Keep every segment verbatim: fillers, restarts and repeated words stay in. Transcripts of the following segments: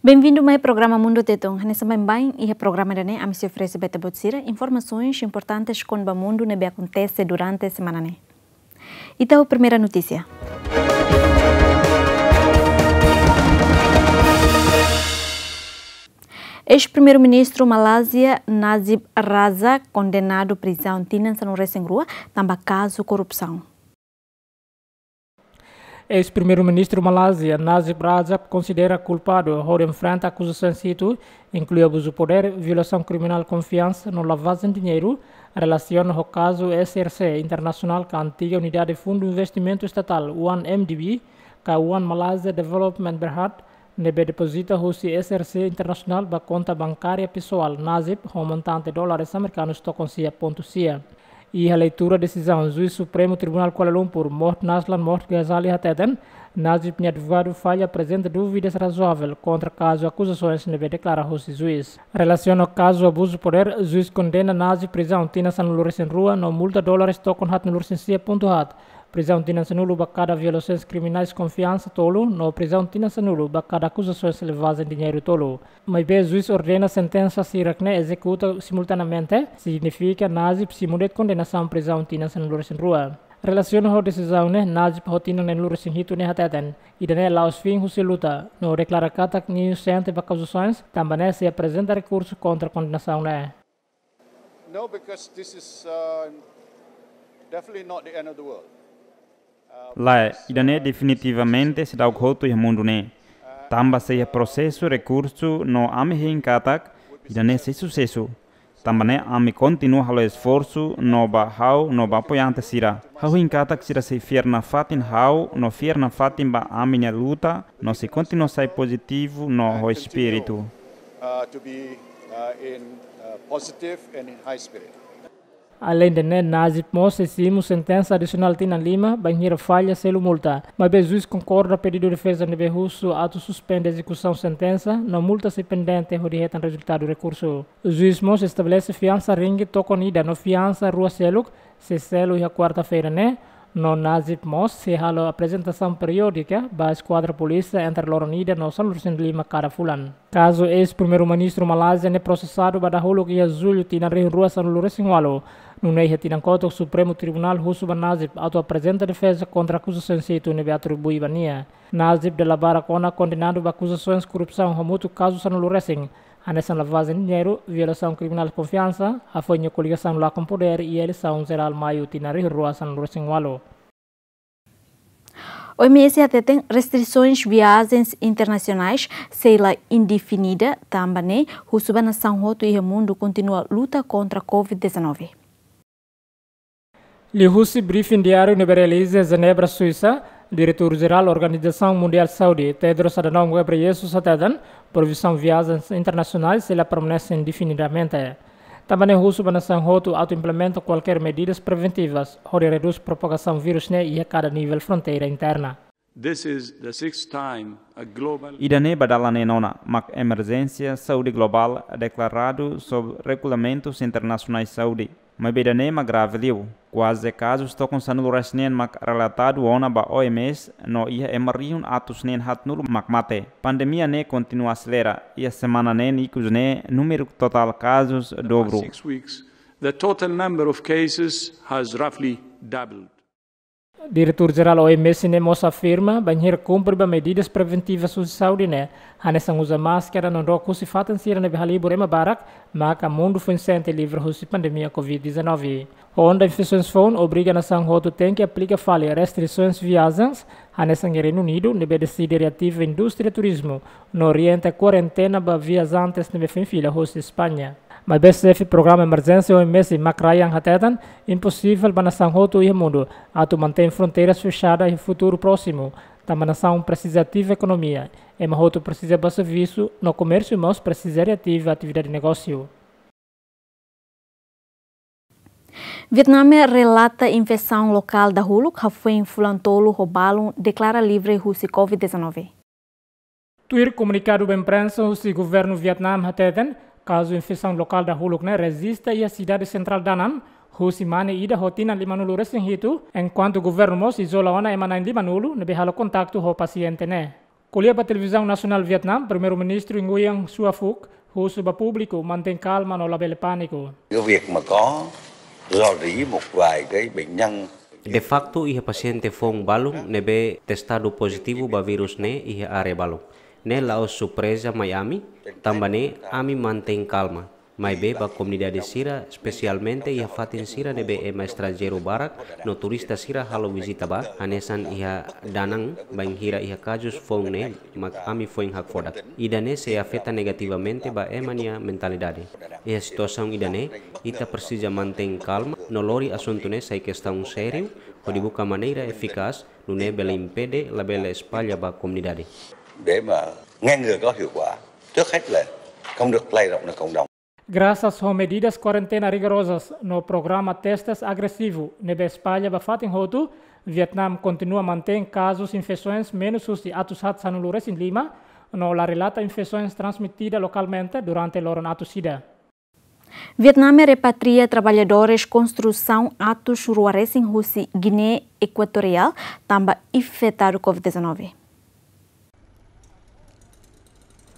Benvindu mai programa Mundu Tetun. Hanesan baibain iha programa ida-ne'e ami sei oferese ba ita-boot sira informasoens importantes kona-ba mundu ne'ebé akontese durante semana ne'e. Ita ho primeira notísia. Eis-Primeiru-Ministru Malázia Najib Razak kondenadu prizaun tinan sanulu-resin-rua tanba kazu korrupsaun. Eis-Primeiru-Ministru Malázia Najib Razak konsidera kulpadu hodi enfrenta akuzasoens hitu, inklui abuzu podér, violasaun kriminál konfiansa no lavajen diñeiru, relasiona ho kazu S R C Internasionál ka antiga Unidade Fundu Investimentu Estatál, One M D B, ka One Malaysia Development Berhad, ne'ebé depozita husi S R C Internasionál ba konta bankária pesoál Najib ho montante dólares amerikanus tokon sia pontu sia. Iha leitura desizaun, Juís Supremu Tribunál Kuala Lumpur, Mohd Nazlan Mohd Ghazali hateten, Najib nia advogadu falla aprezenta dúvidas razoavel kontra kazu akuzasoens ne'ebé deklara husi juís. Relasiona ho kazu abuzu podér, juís kondena Najib prizaun tinan sanulu-resin-rua no multa dólares tokon haatnulu-resin-sia pontu haat, prizaun tinan sanulu ba kada violasoens kriminais konfiansa tolu no prizaun tinan sanulu ba kada akuzasoens lavajen diñeiru tolu. Maibé juís ordena sentensa sira-ne'e ezekuta simultaneamente, signifika Najib simu de'it kondenasaun prizaun tinan sanulu-resin-rua. Relasiona ho desizaun ne'e, Najib ho tinan neenulu-resin-hitu ne'e hateten, ida-ne'e la'ós fin husi luta, no deklara katak nia inosente ba akuzasoens, tanba ne'e sei aprezenta rekursu kontra kondenasaun ne'e. No, because this is, uh, definitely not the end of the world. Lae, ida-ne'e definitivamente seidauk hotu iha mundu ne'e. Tanba sei iha prosesu, rekursu, no ami hein katak ida-ne'e sei susesu. Tanba ne'e ami kontinua halo esforsu no ba ha'u no ba apoiante sira. Ha'u hein katak sira sei fiar nafatin ha'u no fiar nafatin ba ami-nia luta no sei kontinua sai pozitivu no ho espíritu. Uh, to be, uh, in, uh, positive and in high spirit. Aleinde ne'e, Najib mós sei simu sentensa adisionál tinan lima bainhira falla selu multa. Maibé juís konkorda pedidu defeza ne'ebé husu atu suspende ezekusaun sentensa no multa sei pendente hodi hetan rezultadu rekursu. Juís mós estabelese fiansa ringgit tokon ida no fiansa rua seluk sei selu iha kuarta-feira ne'e, no Najib mós sei halo aprezentasaun periódika ba eskuadra polísia entre loron ida no sanulu-resin-lima kada fulan. Kazu eis-Primeiru-Ministru Malázia ne'e prosesadu ba dahuluk iha Jullu tinan rihun rua sanulu-resin-ualu. Nune'e iha tinan kotuk Supremu Tribunál husu ba Najib atu aprezenta defeza kontra akuzasoens hitu ne'ebé atribui ba nia. Najib dala barak ona kondenadu ba akuzasoens korrupsaun hamutuk kazu sanulu-resin, hanesan lavajen diñeiru, violasaun kriminál konfiansa, hafoin nia koligasaun lakon podér iha eleisaun jerál Maiu tinan rihun rua sanulu-resin-ualu. O M S hateten restrisoens viajens internasionais sei la indefinida, tanba ne'e husu ba nasaun hotu iha mundu kontinua luta kontra covid dezanove. Liuhusi briefing diáriu ne'ebé realiza Jenebra, Suisa, Diretór Jerál Organizasaun Mundiál Saúde, Tedros Adhanom Ghebreyesus hateten, proibisaun viajens internasionais sei la permanese indefinidamente. Tanba ne'e husu ba nasaun hotu atu implementa kualkér medidas preventivas hodi redús propagasaun vírus ne'e iha kada nivel fronteira interna. This is the sixth time a global Ida-ne'e ba dala neenona mak emerjénsia saúde globál deklaradu sob regulamentus internasionais saúde. Maibé ida-ne'e mak grave liu. Kuaze kazus tokon sanulu-resin-neen mak relatadu ona ba O M S no iha ema rihun atus neen haatnulu mak mate. Pandemia ne'e kontinua aselera. Iha semana neen ikus ne'e númeru totál kazus dobru. Six weeks, the total number of cases has roughly doubled. Diretór Jerál O M S ne'e mós afirma, bainhira kumpre ba medidas preventivas husi saúde ne'e, hanesan uza máskara no dook husi fatin sira ne'ebé halibur ema barak, maka mundu foin sente livre husi pandemia covid dezanove. Ho onda infesoens foun obriga nasaun hotu tenke aplika fali restrisoens viajens, hanesan Reinu Unidu ne'ebé deside reativa indústria turizmu, no orienta kuarentena ba viajantes ne'ebé foin fila husi España. Maibé xefe programa emerjénsia O M S, Mark Ryan hateten, imposivel ba nasaun hotu iha mundu atu mantein fronteiras fexada iha futuru prósimu, tanba nasaun presiza ativa ekonomia, ema hotu presiza ba servisu, no komérsiu mós presiza reativa atividade negósiu. Vietname relata infesaun lokál dahuluk hafoin fulan tolu ho balun deklara livre husi covid dezanove. Tuir komunikadu ba imprensa husi governu Vietname hateten, kazu infesaun lokál dahuluk ne'e rejista iha sidade sentrál Da Nang, husi mane ida ho tinan limanulu-resin-hitu, enkuantu governu mós izola ona ema na'in limanulu ne'ebé halo kontaktu ho pasiente ne'e. Ko'alia ba Televizaun Nasionál Vietnam, Primeiru-Ministru Nguyen Xuan Phuc husu ba públiku mantein kalma no labele pániku. Cái việc mà có dò dỉ một vài cái bệnh nhân. De facto, iha pasiente foun balun ne'ebé testadu pozitivu ba vírus ne'e iha área balun. Ne'e la'ós surpreza mai ami, tanba ne'e ami mantein kalma. Maibé ba komunidade sira, espesialmente iha fatin sira ne'ebé ema estranjeiru barak no turista sira halo vizita ba, hanesan iha Da Nang, bainhira iha kazus foun ne'e mak ami foin hakfodak. Ida-ne'e sei afeta negativamente ba ema nia mentalidade. Iha situasaun ida-ne'e, ita presiza mantein kalma no lori asuntu ne'e sai kestaun sériu, hodi buka maneira efikás, nune'e bele impede labele espalla ba komunidade. Để mà ngăn ngừa có hiệu quả, trước hết là không được lây rộng ra cộng đồng. Grasas ho medidas kuarentena rigorozas no programa testes agresivu ne'ebé espalla ba fatin hotu, Vietnam kontinua mantein kazus infesoens menus husi atus haat sanulu resin lima, no la relata infesoens transmitida lokalmente durante loron atus ida. Vietnam repatria traballadores konstrusaun atus rua resin husi Guiné Equatorial tanba infetadu COVID dezanove.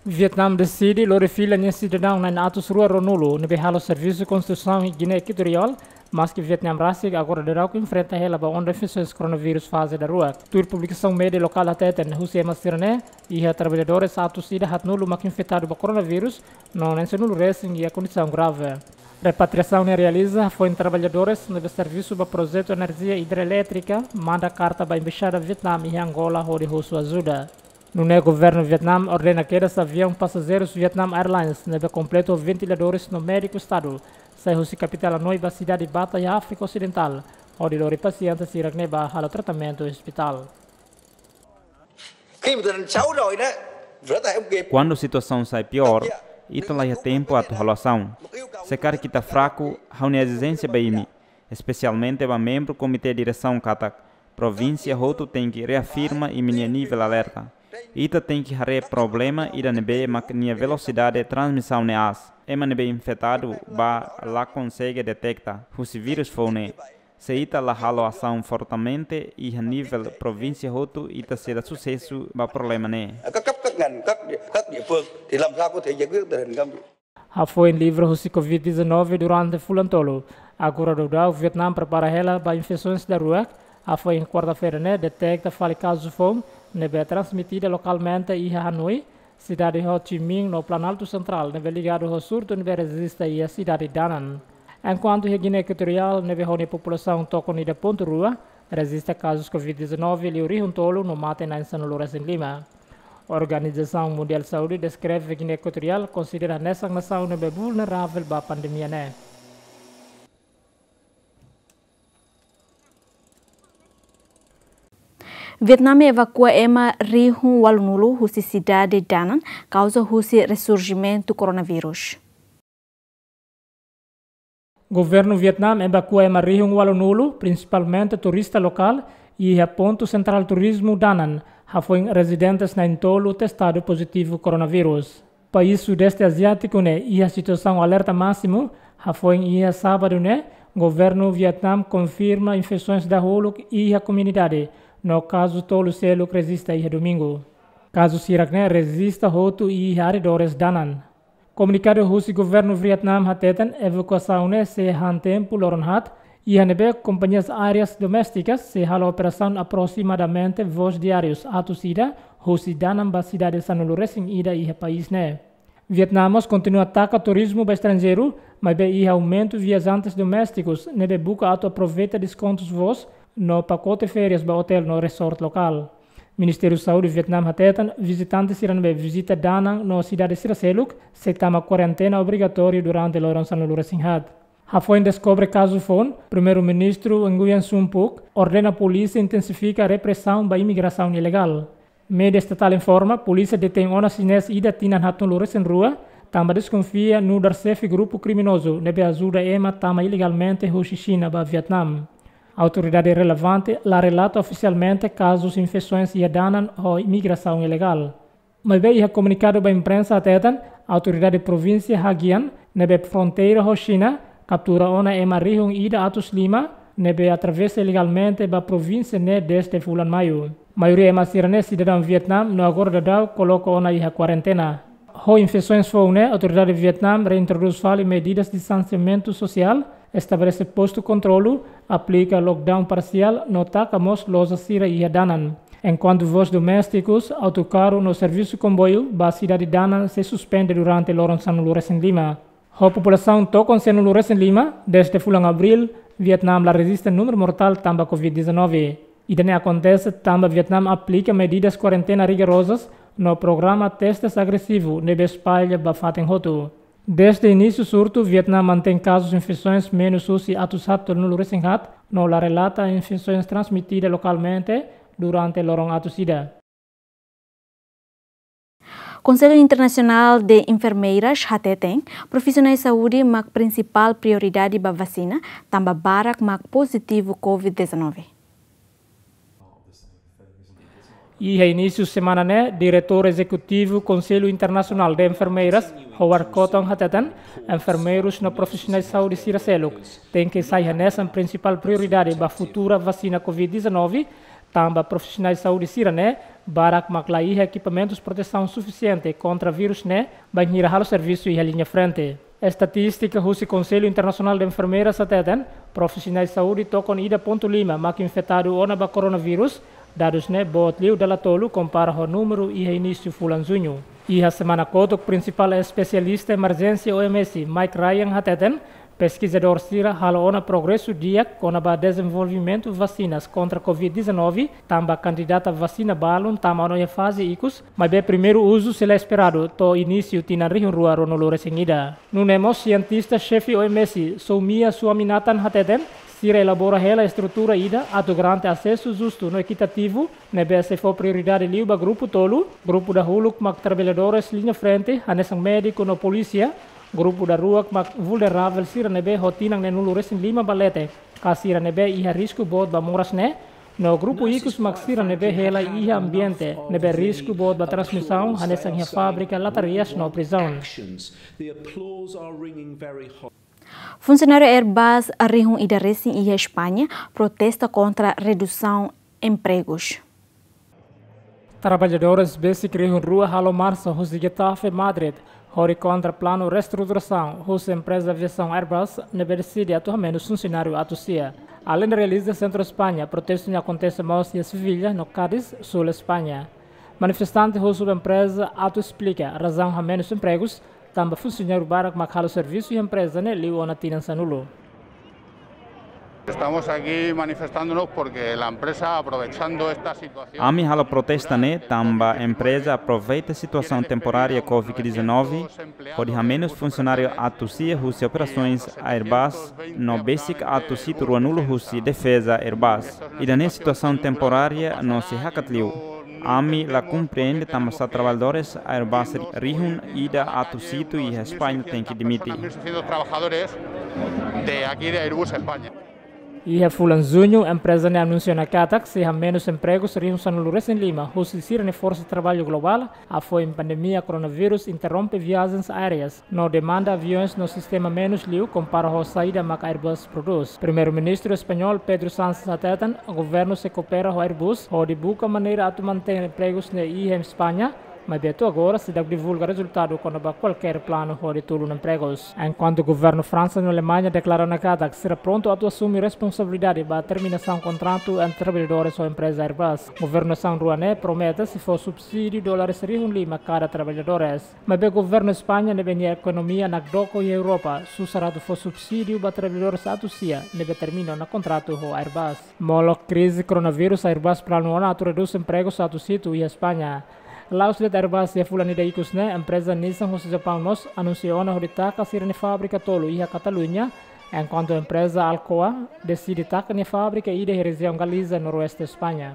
Vietnam deside lori fila nia sidadaun na'in atus rua ruanulu ne'ebé halo servisu konstrusaun iha Guiné Equatorial, maski Vietnam rasik agora daudauk enfrenta hela ba onda infesoens koronavírus faze daruak. Tuir publikasaun média lokál hateten, husi ema sira-ne'e iha traballadores atus ida haatnulu mak infetadu ba koronavírus, no na'in sanulu resin iha kondisaun grave. Repatriasaun ne'e realiza hafoin traballadores ne'ebé servisu ba projetu enerjia idroelétrika manda karta ba Embaixada Vietnam iha Angola hodi husu ajuda. Nune'e governu Vietnam ordena kedas aviaun pasajeirus Vietnam Airlines ne'ebé kompletu ho ventiladores no médiku estadu sai husi kapitál Hanoi ba sidade Bata iha Áfrika Osidentál, hodi lori pasiente sira-ne'e ba halo tratamentu iha ospitál. Kuandu situasaun sai piór, ita laiha tempu atu halo asaun. Se karik ita fraku, ha'u-nia ezijénsia ba imi, espesialmente ba membru komité diresaun katak, provínsia hotu tenke reafirma imi-nia nivel alerta. Ita tenke haree problema ida ne'ebé mak nia velosidade transmisaun ne'e aas. Ema ne'ebé infetadu ba la konsege deteta husi vírus foun ne'e. Se ita la halo asaun fortemente iha nivel provínsia hotu, ita sei la susesu ba problema ne'e. Các cấp, các ngành, các địa, các địa phương thì làm sao có thể giải quyết tình hình không? Hafoin livre husi COVID dezanove durante fulan tolu, agora daudaun Vietnam prepara hela ba infesoens daruak. Hafoin kuarta-feira ne'e deteta fali kazu foun ne'ebé transmitida lokalmente iha Hanoi, sidade Ho Chi Minh no Planaltu Sentrál ne'ebé ligadu ho surtu ne'ebé rejista iha sidade Da Nang. Enkuantu iha Guiné Equatorial ne'ebé ho nia populasaun tokon ida pontu rua, rejista kazus COVID dezanove liu rihun tolu no mate na'in sanulu resin lima. Organizasaun Mundiál Saúde deskreve Guiné Equatorial konsidera hanesan nasaun ne'ebé vulneravel ba pandemia ne'e. Vietnam evakua ema rihun ualunulu husi sidade Da Nang, kauza husi resurjimentu koronavírus. Governu Vietnam evakua ema rihun ualunulu, prinsipalmente turista lokál, iha pontu sentrál turizmu Da Nang, hafoin rezidentes na'in-tolu testadu pozitivu koronavírus. País Sudeste Aziátiku ne'e iha situasaun alerta másimu, hafoin iha sábadu ne'e, governu Vietnam konfirma infesoens dahuluk iha komunidade, no kazu tolu seluk rejista iha domingu. Kazu sira-ne'e rejista hotu iha arredores Da Nang. Komunikadu husi governu Vietnam hateten evakuasaun ne'e sei han tempu loron haat, iha ne'ebé kompañias aéreas doméstikas sei halo operasaun aprosimadamente voos diárius atus ida husi Da Nang ba sidade sanulu resin ida iha país ne'e. Vietnam mós kontinua taka turizmu ba estranjeiru, maibé iha aumentu viajantes doméstikus ne'ebé buka atu aproveita deskontus voos no pakote férias ba otél no resort lokál. Ministériu Saúde Vietnam hateten vizitante sira ne'ebé vizita Da Nang no sidade sira seluk sei tama kuarentena obrigatóriu durante loron sanulu resin haat. Hafoin deskobre kazu foun, Primeiru-Ministru Nguyen Xuan Phuc ordena polísia intensifika represaun ba imigrasaun ilegál. Média estatál informa, polísia detein ona xinés ida tinan haatnulu resin rua, tanba deskonfia nu'udar xefe grupu kriminozu ne'ebé ajuda ema tama ilegalmente husi Xina ba Vietnam. Autoridade relevante la relata ofisialmente kazus infesoens iha Da Nang ho imigrasaun ilegál. Maibé iha komunikadu ba imprensa hateten, autoridade provínsia Hà Giang, ne'ebé fronteira ho Xina, kaptura ona ema rihun ida atus lima, ne'ebé atravesa ilegalmente ba provínsia ne'e dezde fulan Maiu. Maioria ema sira-ne'e sidadaun Vietname no agora daudaun koloka ona iha kuarentena. Ho infesoens foun ne'e, autoridade Vietname reintrodús fali medidas distansiamentu sosiál, estabelese postu kontrolu, aplika lockdown parsiál no taka mós loja sira iha danan. Enkuantu voos doméstikus, autokarru no servisu komboiu ba sidade danan sei suspende durante loron sanulu-resin-lima. Ho populasaun tokon sanulu-resin-lima, dezde fulan Abríl, Vietname la rejista númeru mortál tanba covid dezanove. Ida-ne'e akontese tanba Vietname aplika medidas kuarentena rigorozas no programa testes agresivu ne'ebé espalla ba fatin hotu. Dezde inísiu surtu, Vietname mantein kazus infesoens menus husi atus haat tolunulu-resin-haat, no la relata infesoens transmitida lokalmente durante loron atus ida. Konsellu Internasionál de Enfermeiras hateten, profisionál saúde mak prinsipál prioridade ba vasina, tanba barak mak pozitivu covid dezanove. Iha inísiu semana ne'e, Diretór Ezekutivu Konsellu Internasionál de Enfermeiras, Howard Cotton hateten, enfermeirus no profisionál saúde sira seluk tenke sai hanesan prinsipál prioridade ba futura vasina covid dezanove, tanba profisionál saúde sira-ne'e barak mak la iha ekipamentus protesaun sufisiente kontra vírus ne'e bainhira halo servisu iha liña frente. Estatístika husi Konsellu Internasionál de Enfermeiras hateten, profisionál saúde tokon ida pontu lima mak infetadu ona ba koronavírus, dadus ne'e boot liu dala tolu kompara ho númeru iha inísiu fulan Juñu. Iha semana kotuk, prinsipál espesialista emerjénsia O M S, Mike Ryan hateten, peskizadór sira halo ona progresu di'ak kona-ba dezenvolvimentu vasinas kontra covid dezanove, tanba kandidata vasina balun tama ona iha faze ikus, maibé primeiru uzu sei la esperadu to'o inísiu tinan rihun rua ruanulu-resin-ida. Nune'e mós sientista xefe O M S, Soumya Swaminathan hateten, sira elabora hela estrutura ida atu garante asesu justu no ekitativu, ne'ebé sei fó prioridade liu ba grupu tolu, grupu dahuluk mak traballadores liña frente, hanesan médiku no polísia, grupu daruak mak vulneravel sira ne'ebé ho tinan neenulu-resin-lima ba leten, ka sira ne'ebé iha risku boot ba moras ne'e, no grupu ikus mak sira ne'ebé hela iha ambiente ne'ebé risku boot ba transmisaun, hanesan iha fábrika, latarias no prizaun. Funsionáriu Airbus rihun ida resin iha España protesta kontra redusaun empregus. Traballadores besik rihun rua halo marsa husi Getafe, Madrid, hodi kontra planu reestruturasaun husi empreza aviasaun Airbus ne'ebé deside atu hamenus funsionáriu atus sia. Aleinde realiza sentru España, protestu ne'e akontese mós iha Sevilla no Cádiz, súl España. Manifestante husu ba empreza atu esplika razaun hamenus empregus, tanba funsionáriu barak mak halo servisu iha empreza ne'e liu ona tinan sanulu. Estamos aquí manifestándonos porque la empresa, aprovechando esta situación, ami halo protesta ne'e tanba empreza aproveita situasaun temporária covid dezanove, hodi hamenus funsionáriu atus sia husi operasoens Airbus no besik atus hitu ruanulu husi defeza Airbus. Ida-ne'e situasaun temporária no sei hakat liu. Ami la komprende tanbasá traballadores Airbus rihun ida atus hitu iha España tenke demite. Están también sucediendo trabajadores de aquí de Airbus España. Iha fulan Juñu, empreza ne'e anunsia ona katak sei hamenus empregus rihun sanulu-resin-lima husi sira-nia forsa traballu globál, hafoin pandemia koronavírus interrompe viajens aéreas no demanda aviaun no sistema menus liu kompara ho saida mak Airbus prodús. Primeiru-Ministru español Pedro Sánchez hateten, governu sei koopera ho Airbus hodi buka maneira atu mantein empregus ne'e iha España, maibé to'o agora seidauk divulga rezultadu kona-ba kualkér planu hodi tulun empregus. Enkuantu governu Fransa no Alemaña deklara ona katak sira prontu atu asume responsabilidade ba terminasaun kontratu entre traballadores ho empreza Airbus. Governu nasaun rua ne'e promete sei fó subsídiu dólares rihun lima kada traballadores. Maibé governu España ne'ebé nia ekonomia nakdoko iha Europa susar atu fó subsídiu ba traballadores atus sia ne'ebé termina ona kontratu ho Airbus. Molok krize koronavírus, Airbus planu ona atu redús empregus atus hitu iha España. La'ós de'it Airbus, iha fulan ida ikus ne'e, empreza Nissan husi Japaun mós anunsia ona hodi taka sira-nia fábrika tolu iha Kataluña, enkuantu empreza Alcoa deside taka nia fábrika ida iha rejiaun Galiza, noroeste España.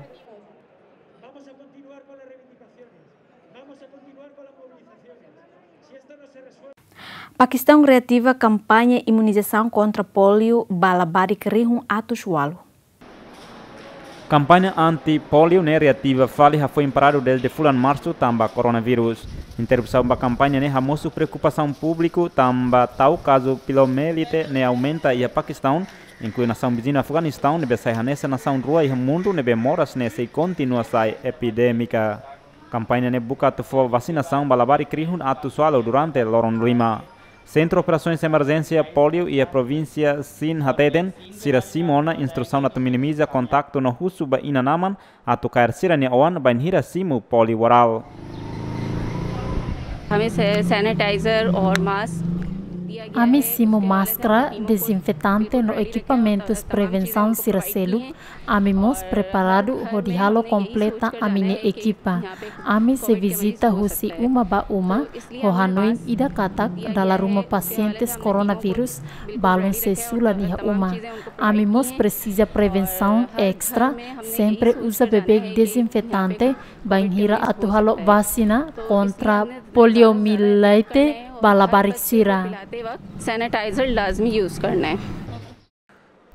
Pakistan reativa kampaña imunizasaun kontra pólio ba labarik rihun atus ualu. Kampaña anti-polio ne'e reativa fali, hafoin paradu dezde fulan Marsu tanba koronavírus. Interrupsaun ba kampaña ne'e hamosu preokupasaun públiku tanba tau kazu poliomielite ne'e aumenta iha Pakistaun, inklui nasaun viziñu Afeganistaun, ne'ebé sai hanesan nasaun rua iha mundu ne'ebé moras ne'e sei kontinua sai epidémika. Kampaña ne'e buka atu fó vasinasaun ba labarik rihun atus ualu durante loron lima. Sentru Operasoens Emerjénsia Polio iha provínsia Sindh hateten, sira simu ona instrusaun atu minimiza kontaktu no husu ba inan-aman atu kaer sira-nia oan bainhira simu polio oral. हमें सै- सैनिटाइजर और मास्क दिया गया Ami है, simu उसके अलावा máskara, टीमों को dezinfetante no ekipamentus prevensaun sira seluk. Ami mós preparadu hodi halo kompleta ami-nia ekipa. Ami sei vizita husi uma ba uma, ho hanoin ida katak dala ruma pasientes koronavírus balun sei sulan iha uma. Ami mós presiza prevensaun estra, sempre uza beibeik dezinfetante bainhira atu halo vasina kontra poliomielite ba labarik sira. पिलाते वक्त सैनिटाइजर लाजमी यूज़ करना है।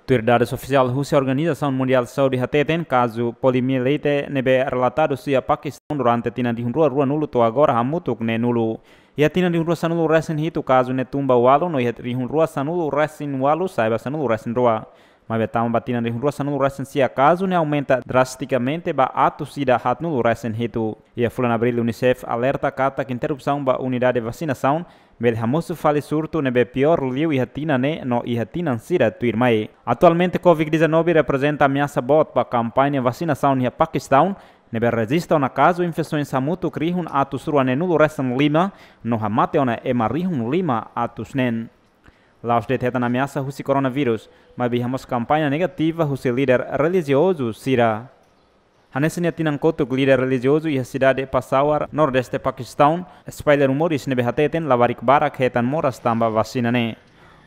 Tuir dadus ofisiál husi Organizasaun Mundiál Saúde hateten, kazu poliomielite ne'ebé relatadu iha Pakistaun durante tinan rihun rua ruanulu to'o agora hamutuk neenulu. Iha tinan rihun rua sanulu resin hitu kazu ne'e tun ba ualu no iha rihun rua sanulu resin ualu sai ba sanulu resin rua. Maibé tama ba tinan rihun rua sanulu resin sia kazu ne'e aumenta drastikamente ba atus ida haatnulu resin hitu. Iha fulan Abríl, UNICEF alerta katak interrupsaun ba unidade vasinasaun bele hamosu fali surtu ne'ebé piór liu iha tinan ne'e no iha tinan sira tuirmai. Atualmente, covid dezanove reprezenta ameasa boot ba kampaña vasinasaun iha Pakistaun, ne'ebé rejista ona kazu infesoens hamutuk rihun atus rua neenulu resin lima, no hamate ona ema rihun lima atus neen. La'ós de'it hetan ameasa husi koronavírus, maibé iha mós kampaña negativa husi líder relijiozu sira. Hanesan iha tinan kotuk, líder relijiozu iha sidade Peshawar, nordeste Pakistaun, espalla rumores ne'ebé hateten labarik barak hetan moras tanba vasina ne'e.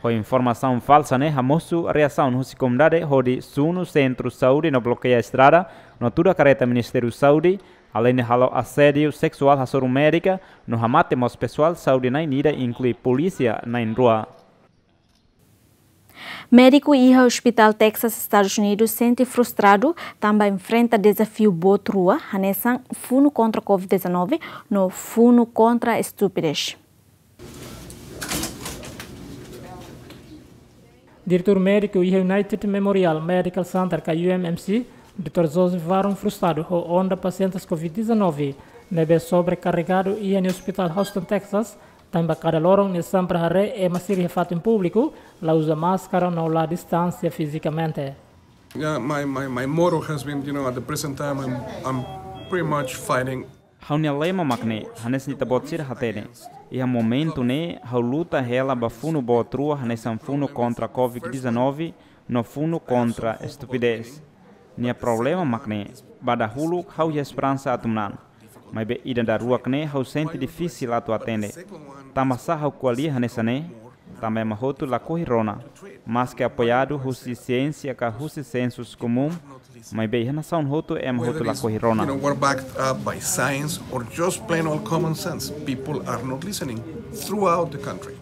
Ho informasaun falsa ne'e hamosu reasaun husi komunidade hodi sunu sentru saúde no blokeia estrada, no tuda karreta Ministériu Saúde, aleinde halo asédiu seksuál hasoru médika, no hamate mós pesoál saúde na'in ida, inklui polísia na'in rua. Médiku iha Hospital Texas, Estadus Unidus, sente frustradu tanba enfrenta dezafiu boot rua, hanesan funu kontra covid dezanove no funu kontra estupidez. Diretór médiku iha United Memorial Medical Center ka U M M C, doutór Joseph Varon, frustradu ho onda pasientes covid dezanove ne'ebé sobrekarregadu iha nia ospitál Houston, Texas, tanba kada loron nia sempre haree ema sira iha fatin públiku la uza máskara no la distánsia fizikamente. Yeah, my, my, my motto has been, you know, at the present time, I'm, I'm pretty much fighting. Ha'u-nia lema mak ne'e, hanesan ita-boot sira hatene. Iha momentu ne'e, ha'u luta hela ba funu boot rua, hanesan funu kontra covid dezanove no funu kontra estupidez. Nia problema mak ne'e, ba dahuluk ha'u iha esperansa atu manán. Maibé ida daruak ne'e ha'u sente difisil atu atende. Tanbasá ha'u ko'alia hanesan ne'e? Tanba ema hotu lakohi rona. Maske apoiadu husi siénsia ka husi sensu komún, maibé iha nasaun hotu ema hotu lakohi rona. You know, we're backed up by science or just plain old common sense. People are not listening throughout the country.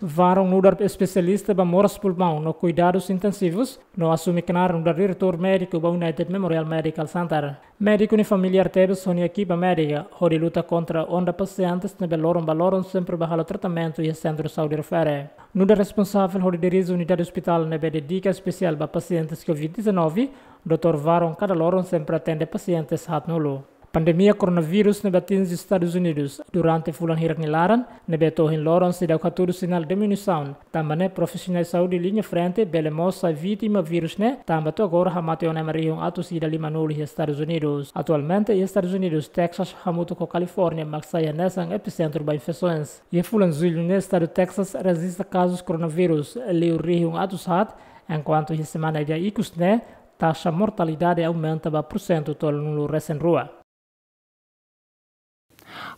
Varon nu'udar espesialista ba moras pulmaun no kuidadus intensivus, no asume knaar nu'udar diretór médiku ba United Memorial Medical Center. Médiku ne'e familiár tebes ho nia ekipa médika hodi luta kontra onda pasientes ne'ebé loron ba loron sempre bá halo tratamentu iha sentru saúde refere. Nu'udar responsavel hodi dirije unidade ospitál ne'ebé dedika espesiál ba pasientes covid dezanove, doutór Varon kada loron sempre atende pasientes haatnulu. Pandemia koronavírus ne'ebé atinje Estadus Unidus durante fulan hirak nia laran, ne'ebé to'o ohin loron seidauk hatudu sinál diminuisaun, tanba ne'e profisionál saúde liña frente bele mós sai vítima vírus ne'e, tanba to'o agora hamate ona ema rihun atus ida limanulu iha Estadus Unidus. Atualmente iha Estadus Unidus, Texas hamutuk ho California mak sai hanesan episentru ba infesoens. Iha fulan Jullu ne'e, estadu Texas rejista kazus koronavírus liu rihun atus haat, enkuantu iha semana ida ikus ne'e, taxa mortalidade aumenta ba pursentu tolunulu resin rua.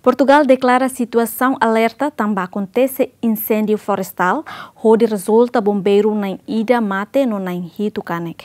Portugal deklara situasaun alerta tanba akontese inséndiu florestál, hodi rezulta bombeiru na'in ida mate no na'in hitu kanek.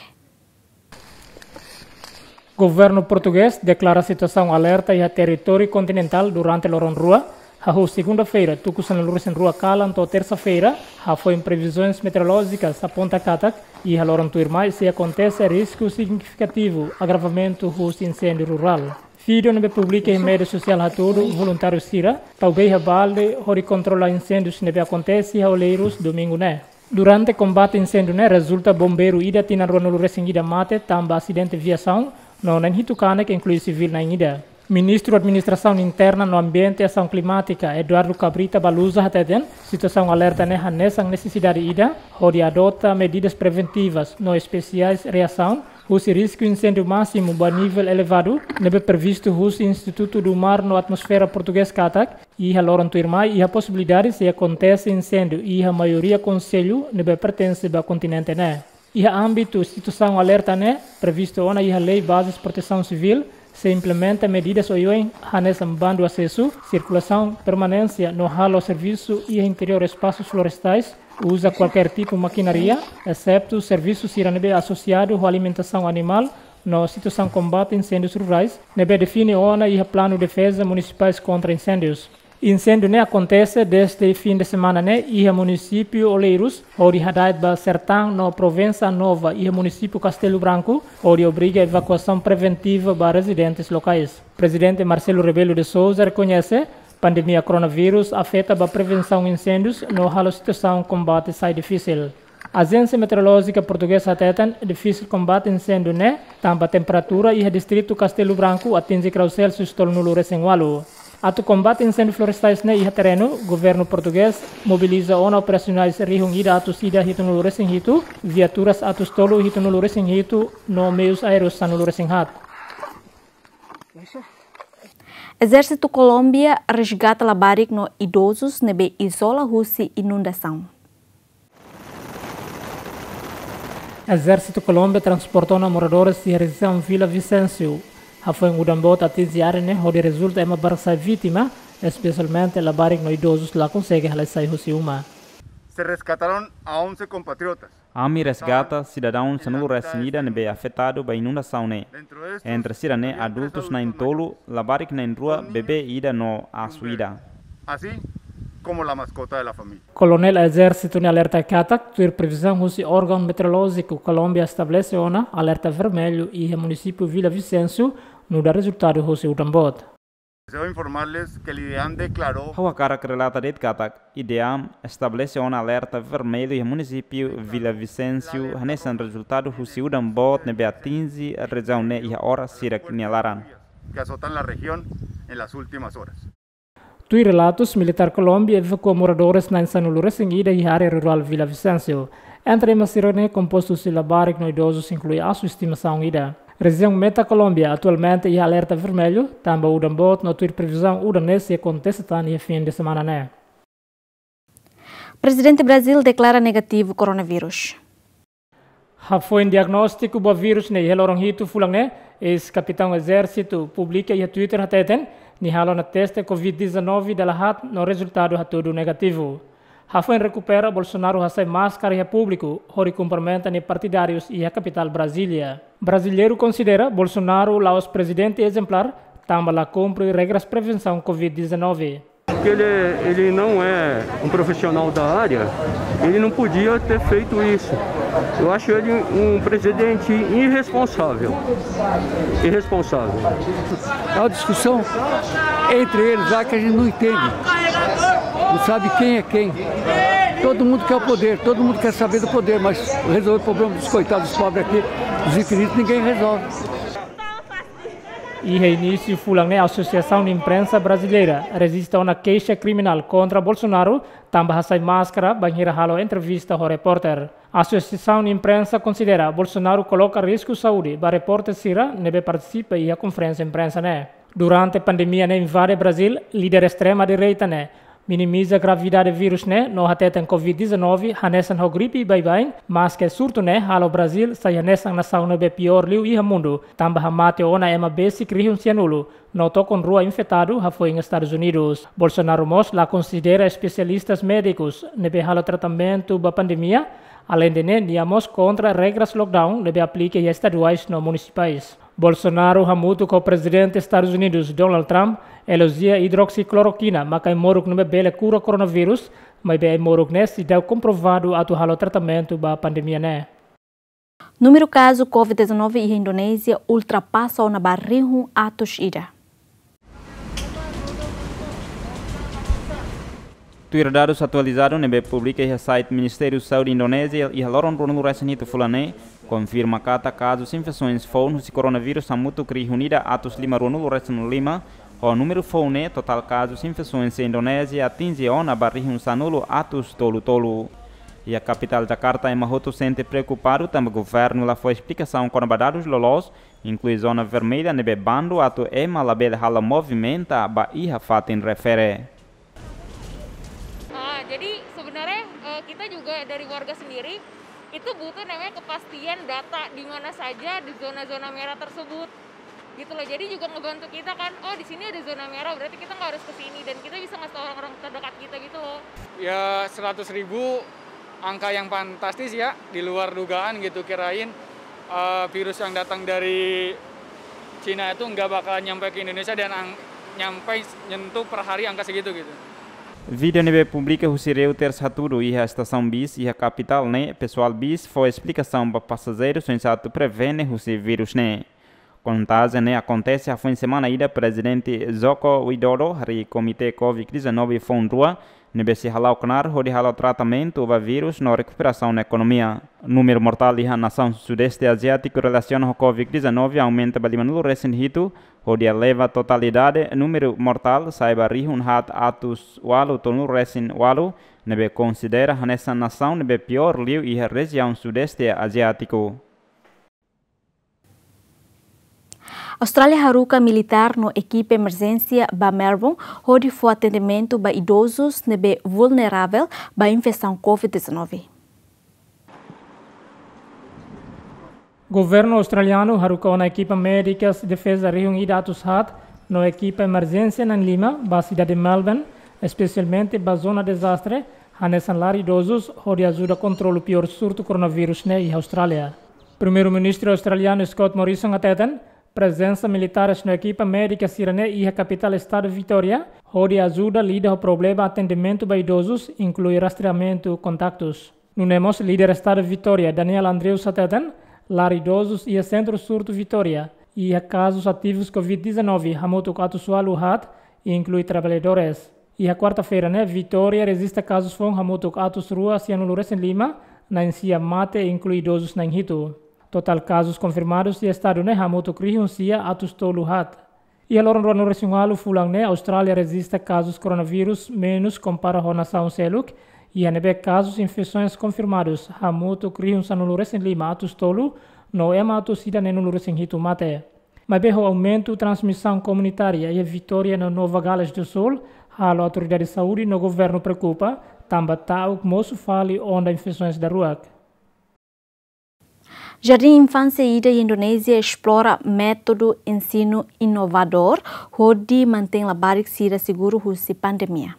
Governu portugés deklara situasaun alerta iha territóriu kontinentál durante loron rua, Hahú segunda-feira, tuku sanulu-resin-rua kalan to'o tersa-feira, hafoin previzaun meteorolójika aponta katak iha loron tuirmai sei akontese risku signifikativu agravamentu husi inséndiu rurál. Vídeo ne'ebé publika iha média sosiál hatudu voluntáriu sira tau bee iha balde hodi kontrola inséndiu ne'ebé akontese iha Oleiros domingu ne'e. Durante kombate inséndiu ne'e rezulta bombeiru ida tinan ruanulu-resin-ida mate tanba asidente viasaun, no na'in hitu kanek inklui sivíl na'in ida. Ministru Administrasaun Interna no Ambiente Asaun Klimátika, Eduardo Cabrita Baluza hateten, situasaun alerta ne'e hanesan nesesidade ida hodi adota medidas preventivas no espesiais reasaun husi risku inséndiu másimu ba nivel elevadu, ne'ebé previstu husi Instituto do Mar no Atmosfera Portugés katak iha loron tuirmai iha posibilidade sei akontese inséndiu iha maioria konsellu ne'ebé pertense ba kontinente ne'e. Iha ámbitu situasaun alerta ne'e, previstu ona iha lei bazes protesaun sivíl sei implementa medidas oioin hanesan bandu asesu, sirkulasaun, permanénsia no halo servisu iha interiór espasus florestais, uza kualkér tipu makinária, eseptu servisu sira ne'ebé asosiadu ho alimentasaun animál, no situasaun kombate inséndius rurais, ne'ebé define ona iha planu defeza munisipais kontra inséndius. Inséndiu ne'e akontese dezde fin de semana ne'e iha munisípiu Oleiros, hodi hada'et ba Sertán no Provensa Nova iha munisípiu Castelo Branco, hodi obriga evakuasaun preventiva ba rezidentes lokais. Prezidente Marcelo Rebelo de Sousa rekoñese pandemia koronavírus afeta ba prevensaun inséndius no halo situasaun kombate sai difisil. Ajénsia Meteorolójika Portugeza hateten difisil kombate inséndiu ne'e tanba temperatura iha distritu Castelo Branco atinje grau Celsius tolunulu-resin-ualu. Atu kombate inséndiu florestais ne'e iha terrenu, governu portugés mobiliza ona operasionais rihun ida atus ida hitunulu-resin-hitu, viaturas atus tolu hitunulu-resin-hitu, no meius aéreus sanulu-resin-haat. Ezérsitu Kolómbia resgata labarik no idozus ne'ebé izola husi inundasaun. Ezérsitu Kolómbia transporta ona moradores iha rejiaun Vila Vicencio. Hafoin udan boot atinje área ne'e hodi rezulta ema barak sai vítima, espesialmente labarik no idozus la konsege halai sai husi uma. Se rescataron a once compatriotas. Ami resgata sidadaun sanulu-resin-ida ne'ebé afetadu ba inundasaun ne'e. Entre sira ne'e adultus na'in tolu, labarik na'in rua, bebé ida no asu ida. Así como la mascota de la familia. Koronél ezérsitu ne'e alerta katak, tuir previzaun husi órgaun meteorolójiku Kolómbia estabelese ona alerta vermellu iha munisípiu Vila Vicencio, nu'udar rezultadu husi udan boot. Deseo informarles que el IDEAM declaró. Ha'u hakarak relata de'it katak IDEAM estabelese ona alerta vermellu iha munisípiu Vila Vicencio, hanesan rezultadu husi udan boot ne'ebé atinje rejiaun ne'e iha oras hirak nia laran. Que azotan la región en las últimas horas. Tuir relatus, militár Kolómbia evakua moradores na'in sanulu-resin-ida iha área rurál Vila Vicencio. Entre ema sira ne'e kompostu husi labarik no idozus, inklui asu estimasaun ida. Rejiaun Meta Kolómbia atualmente iha alerta vermellu, tanba udan boot no tuir previzaun udan ne'e sei akontese tan iha fin de semana ne'e. Prezidente Brazíl deklara negativu koronavírus. Hafoin diagnóstiku ba vírus ne'e iha loron hitu fulan ne'e, eis-kapitaun ezérsitu publika iha Twitter hateten, nia halo ona teste Covid dezanove dala haat no rezultadu hatudu negativu. Hafoin rekupera, Bolsonaro hasai máskara iha públiku, hodi kumprimenta nia partidárius iha kapitál Brazília. Brasileiru konsidera Bolsonaro la'ós prezidente ezemplár, tanba la kumpre regras prevensaun Covid dezanove. Que ele, ele não é um profissional da área, ele não podia ter feito isso. Eu acho ele um presidente irresponsável. Irresponsável. É uma discussão entre eles lá que a gente não entende. Não sabe quem é quem. Todo mundo quer o poder, todo mundo quer saber do poder, mas resolver o problema dos coitados, dos pobres aqui, dos infinitos, ninguém resolve. Iha inísiu fulan ne'e, Asosiasaun Imprensa Brasileira rejista ona keixa kriminál kontra Bolsonaro, tanba hasai máskara bainhira halo entrevista ho repórter. Asosiasaun Imprensa konsidera Bolsonaro koloka risku saúde ba repórter sira ne'ebé partisipa iha konferénsia imprensa ne'e. Durante pandemia ne'e invade Brazíl, líder estrema-direita ne'e minimiza gravidade vírus ne'e no hateten Covid dezanove hanesan ho gripe baibain, maske surtu ne'e halo Brazíl sai hanesan nasaun ne'ebé piór liu iha mundu, tanba hamate ona ema besik rihun sianulu no tokon rua infetadu hafoin Estadus Unidus. Bolsonaro mós la konsidera espesialistas médikus ne'ebé halo tratamentu ba pandemia, aleinde ne'e nia mós kontra regras lockdown ne'ebé aplika iha estaduais no munisipais. Bolsonaro hamutuk ho Prezidente Estadus Unidus, Donald Trump, elojia idroksiklorokina maka ai-moruk ne'ebé bele kura koronavírus, maibé ai-moruk ne'e seidauk komprovadu atu halo tratamentu ba pandemia ne'e. Númeru kazu Covid dezanove iha Indonézia ultrapasa ona ba rihun atus ida. Tuir dadus atualizadu ne'ebé publika iha site Ministériu Saúde Indonézia iha loron ruanulu-resin-hitu fulan ne'e, konfirma katak kazus infesaun foun husi koronavírus hamutuk rihun ida atus lima ruanulu-resin-lima, ho númeru foun ne'e totál kazus infesaun iha Indonézia atinje ona ba rihun sanulu atus tolu-tolu. Iha kapitál Jakarta ema hotu sente preokupadu tanba governu la fó esplikasaun kona-ba dadus loloos, inklui zona vermelha ne'ebé bandu atu ema labele hala'o movimenta ba iha fatin refere. Ah, jadi sebenarnya, eh, kita juga dari warga sendiri itu butuh namanya kepastian data di mana saja di zona-zona merah tersebut. Gitu loh. Jadi juga ngebantu kita kan, "Oh, di sini ada zona merah, berarti kita nggak harus ke sini," dan kita bisa ngasih tahu orang-orang terdekat kita gitu loh. Ya, seratus ribu angka yang fantastis ya, di luar dugaan gitu, kirain, eh, virus yang datang dari Cina itu nggak bakalan nyampe ke Indonesia dan ang-, nyampe nyentuh per hari angka segitu gitu. Vídeo ne'ebé publika husi Reuters hatudu iha estasaun bis iha kapitál ne'e, pesoál bis fó esplikasaun ba pasajeiru oinsá atu prevene husi vírus ne'e. Kontajiu ne'e akontese hafoin semana ida Prezidente Joko Widodo harii Komité Covid dezanove foun rua, ne'ebé sei hala'o knaar hodi halo tratamentu ba vírus no rekuperasaun ekonomia. Númeru mortál iha nasaun Sudeste Aziátiku relasiona ho Covid dezanove aumenta ba limanulu-resin-hitu, hodi eleva totalidade númeru mortál sai ba rihun haat atus ualu tolunulu-resin-ualu, ne'ebé konsidera hanesan nasaun ne'ebé piór liu iha rejiaun Sudeste Aziátiku. Austrália haruka militár no ekipa emerjénsia ba Melbourne hodi fó atendimentu ba idozus ne'ebé vulneravel ba infesaun Covid dezanove. Governu australianu haruka ona ekipa médikas defeza rihun ida atus haat no ekipa emerjénsia na'in-lima ba sidade Melbourne, espesialmente ba zona dezastre, hanesan lar idozus, hodi ajuda kontrolu piór surtu koronavírus ne'e iha Austrália. Primeiru-Ministru australianu Scott Morrison hateten, prezensa militares no ekipa médika sira-ne'e iha kapitál estadu Vitória, hodi ajuda lida ho problema atendimentu ba idozus, inklui rastreamentu kontaktus. Nune'e mós líder estadu Vitória, Daniel Andrews hateten, lar idozus iha sentru surtu Vitória iha kazus ativus Covid dezanove hamutuk atus ualu haat, inklui traballadores. Iha kuarta-feira ne'e, Vitória rejista kazus foun hamutuk atus rua sianulu-resin-lima, na'in-sia mate, inklui idozus na'in-hitu. Totál kazus konfirmadus iha estadu ne'e hamutuk rihun sia atus tolu haat. Iha loron ruanulu-resin-ualu fulan ne'e, Austrália rejista kazus koronavírus menus kompara ho nasaun seluk, iha ne'ebé kazus infesaun konfirmadus hamutuk rihun sanulu-resin-lima atus tolu, no ema atus ida neenulu-resin-hitu mate. Maibé ho aumentu transmisaun komunitária iha Vitória no Nova Gales do Sul, halo autoridade saúde no governu preokupa, tanba ta'uk mosu fali onda infesaun daruak. Jardín infánsia ida iha Indonézia esplora métodu ensinu inovadór hodi mantein labarik sira seguru husi pandemia.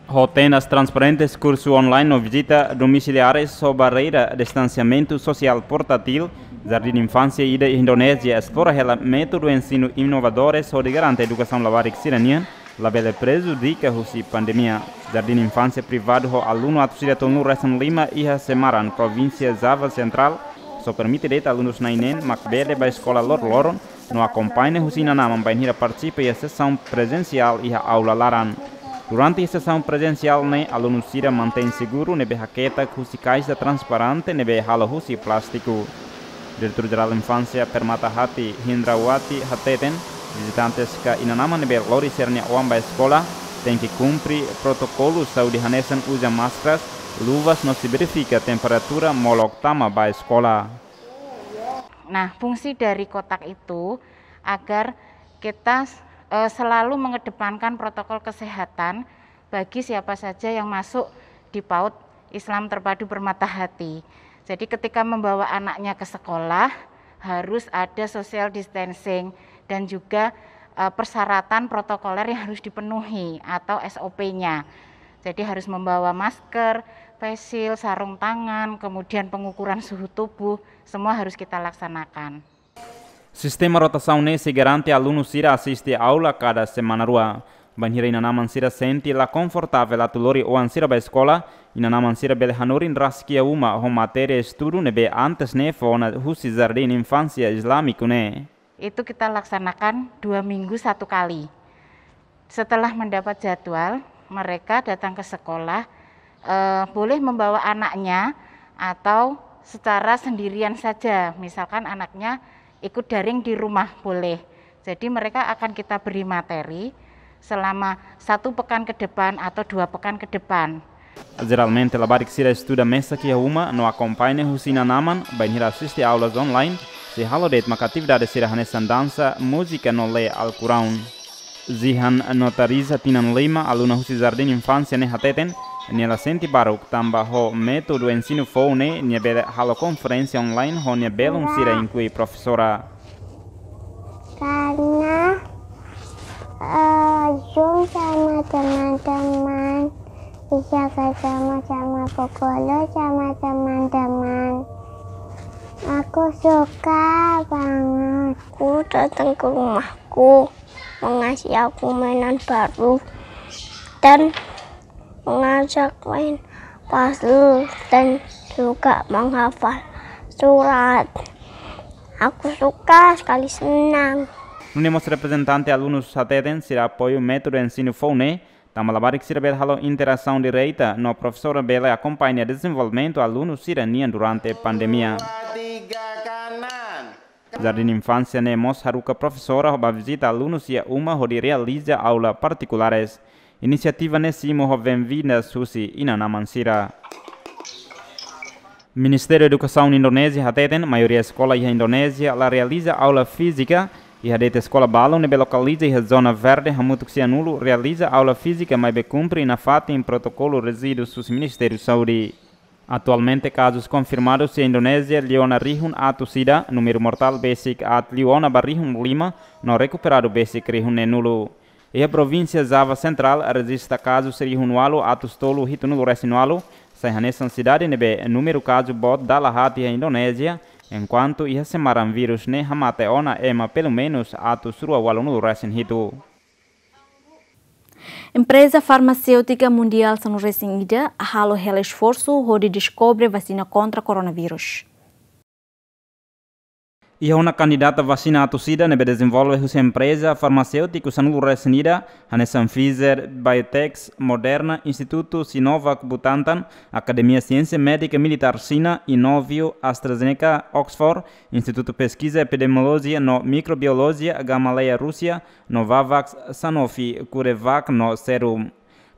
Ho tendas transparentes, kursu online no vizita domisiliares ho barreira distansiamentu sosiál portátil, Jardín Infánsia ida iha Indonézia esplora hela métodu ensinu inovadores hodi garante edukasaun labarik sira-nian labele prejudika husi pandemia. Jardín Infánsia privadu ho alunu atus ida tolunulu-resin-lima iha Semarang, Provínsia Java Sentrál, só permite de'it alunus na'in-neen mak bele bá eskola loroloron, no akompaña husi inan-aman bainhira partisipa iha sesaun prezensiál iha aula laran. Durante sesaun prezensiál ne'e, alunu sira mantein seguru ne'ebé haketak husi kaixa transparente ne'ebé halo husi plástiku. Diretór Jerál Infánsia Permata Hati, Hindrawati, hateten, vizitantes ka inan-aman ne'ebé lori sira-nia oan bá eskola tenke kumpre protokolu saúde hanesan uza máskaras, luvas no sei verifika temperatura molok tama bá eskola. Nah, fungsi dari kotak itu agar kita, eh, selalu mengedepankan protokol kesehatan bagi siapa saja yang masuk di PAUD Islam Terpadu Permata Hati. Jadi ketika membawa anaknya ke sekolah, harus ada social distancing dan juga, eh, persyaratan protokoler yang harus dipenuhi atau S O P-nya. Jadi harus membawa masker, Face shield, sarung tangan, kemudian pengukuran suhu tubuh, semua harus kita laksanakan. Sistema rotasaun ne'e sei garante alunu sira asiste aula kada semana rua. Bainhira inan-aman sira sente la konfortavel atu lori oan sira ba eskola, inan-aman sira bele hanorin rasik iha uma ho matéria estudu ne'ebé antes ne'e fó ona husi Jardín Infánsia Islamiku ne'e. Itu kita laksanakan dua minggu satu kali. Setelah mendapat jadwal, mereka datang ke sekolah, eh, boleh membawa anaknya atau secara sendirian saja. Misalkan anaknya ikut daring di rumah, boleh. Jadi mereka akan kita beri materi selama satu pekan ke depan atau dua pekan ke depan. Jeralmente, labarik sira estuda mesak iha uma no akompaña husi inan-aman, bainhira asiste aulas online, sei halo de'it maka atividade sira hanesan dansa, múzika no lee Alkuraun. Zihan Notariza, tinan lima, aluna husi Jardín Infánsia ne'e hateten, nia la sente baruk tanba ho métodu ensinu foun ne'e, nia bele halo konferénsia online ho nia belun sira, inklui profesora. Karena, eh, Zoom sama teman-teman, bisa ketemu sama pukul sama teman-teman. Aku suka banget. Aku datang ke rumahku, mengasih aku mainan baru, dan mengajak main puzzle dan juga menghafal surat. Aku suka sekali, senang. Nune'e mós reprezentante alunus hateten sira apoiu métodu ensinu foun ne'e, tanba labarik sira bele halo interasaun direta no profesora bele akompaña dezenvolvimentu alunu sira-nian durante pandemia. Jardín Infánsia ne'e mós haruka profesora ba vizita alunus iha uma hodi realiza aula partikulares. Inisiativa ne'e simu ho benvindas husi inan-aman sira. Ministériu Edukasaun Indonézia hateten, maioria eskola iha Indonézia la realiza aula fízika, iha de'it eskola balu ne'ebé lokaliza iha zona verde hamutuk Sihanoule realiza aula fízika maibé kumpre nafatin protokolu rejidu husi Ministériu Saúde. Atualmente, kazus konfirmadus iha Indonézia liu ona rihun atus ida, númeru mortál besik aat liu ona ba rihun lima, no rekuperadu besik rihun neenulu. Iha provínsia Java Sentrál rejista kazus rihun ualu atus tolu hitunulu resin ualu, sai hanesan sidade ne'ebé númeru kazu boot dala haat iha Indonézia, enkuantu iha semaran vírus ne'e hamate ona ema pelumenus atus rua ualunulu resin hitu. Empreza farmaséutika mundiál sanulu resin ida halo hela esforsu hodi deskobre vasina kontra koronavírus. Iha ona kandidata vasina atus ida ne'ebé dezenvolve husi empreza farmaséutiku sanulu resin ida, hanesan Pfizer, BioNTech, Moderna, Institutu Sinovac Butantan, Akademia Siénsia Médika Militár Xina, Inovio, AstraZeneca, Oxford, Institutu Peskiza Epidemiolojia no Mikrobiolojia Gamaleya Rúsia, Novavax, Sanofi, CureVac no Serum.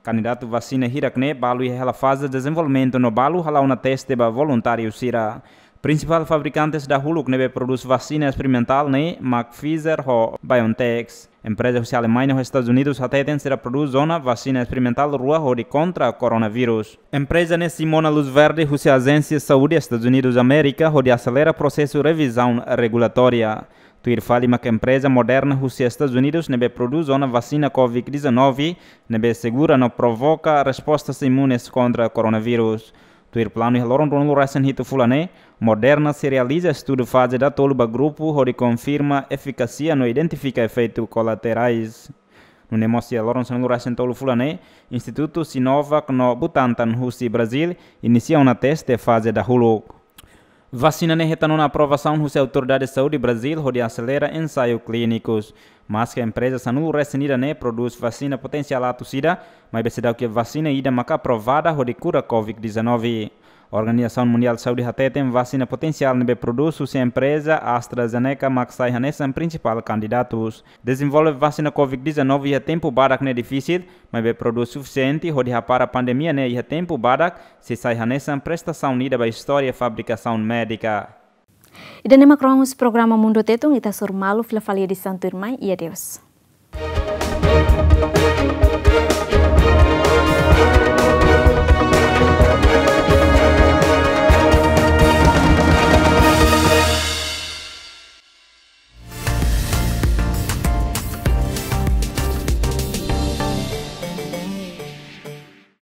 Kandidatu vasina hirak-ne'e balu iha hela faze dezenvolvimentu no balu hala'o ona teste ba voluntáriu sira. Prinsipál fabrikantes dahuluk ne'ebé prodús vasina esperimentál ne'e mak Pfizer ho BioNTech. Empreza husi Alemaña ho Estadus Unidus hateten sira prodús ona vasina esperimentál rua hodi kontra koronavírus. Empreza ne'e simu ona luz verde husi Ajénsia Saúde Estadus Unidus Amérika hodi aselera prosesu revizaun regulatória. Tuir fali mak empreza Moderna husi Estadus Unidus ne'ebé prodús ona vasina covid dezanove, ne'ebé segura no provoka respostas imunes kontra koronavírus. Tuir planu iha loron ruanulu resin hitu fulan ne'e, Moderna sei realiza estudu faze datolu ba grupu hodi konfirma efikasia no identifika efeitu kolaterais. Nune'e mós iha loron sanulu resin tolu fulan ne'e, Institutu Sinovac no Butantan husi Brazil inisia ona teste faze dahuluk. Vasina ne'e hetan ona aprovasaun husi autoridade saúde Brazil hodi aselera ensaiu klínikus. Maske empreza sanulu resin ida ne'e prodús vasina potensiál atus ida, maibé seidauk iha vasina ida maka aprovada hodi kura covid dezanove. Organizasaun Mundiál Saúde hateten vasina potensiál ne'ebé prodús husi empreza AstraZeneca mak sai hanesan prinsipál kandidatus. Dezenvolve vasina covid dezanove iha tempu badak ne'e difisil, maibé prodús sufisiente hodi hapara pandemia ne'e iha tempu badak, sei sai hanesan prestasaun ida ba istória fabrikasaun médika. Ida-ne'e mak rohan husi programa Mundu Tetun, ita hasoru malu fila fali edisaun tuirmai, i adeus.